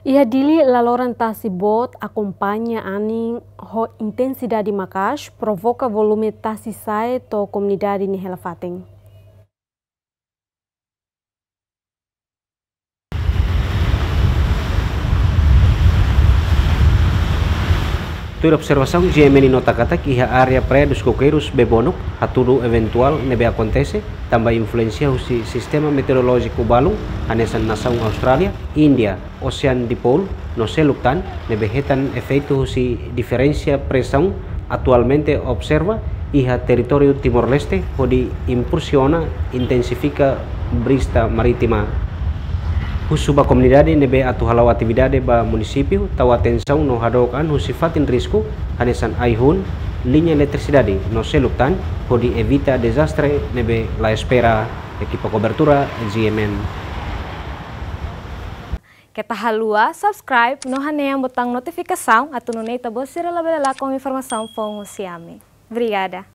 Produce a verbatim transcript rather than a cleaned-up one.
Iha Dili, laloran tasi boot akompaña anin ho intensidade maka'as, provoka volume tasi sa'e to'o komunidade nia hela fatin. Tuir observasaun, G M N nota katak iha área Praia dos Coqueiros, Bebonuk, hatudu eventuál ne'ebé akontese tanba influénsia husi sistema meteorolójiku balun, hanesan nasaun Austrália, Índia, Ocean Dipole, no seluk tan, ne'ebé hetan efeitu husi diferensa presaun atualmente observa iha territóriu Timor-Leste, hodi impulsiona intensifika brisa marítima. Husu ba komunidade ne'ebé atu hala'o atividade ba munisípiu, tau atensaun no hadook an husi fatin risku, hanesan ai-hun, liña eletrisidade no seluk tan, hodi evita dezastre ne'ebé la espera. Ekipa kobertura, G M N. Keta haluha subscribe no hanehan botaun notifikasaun atu nune'e ita-boot sira labele lakon informasaun foun husi ami. Obrigada.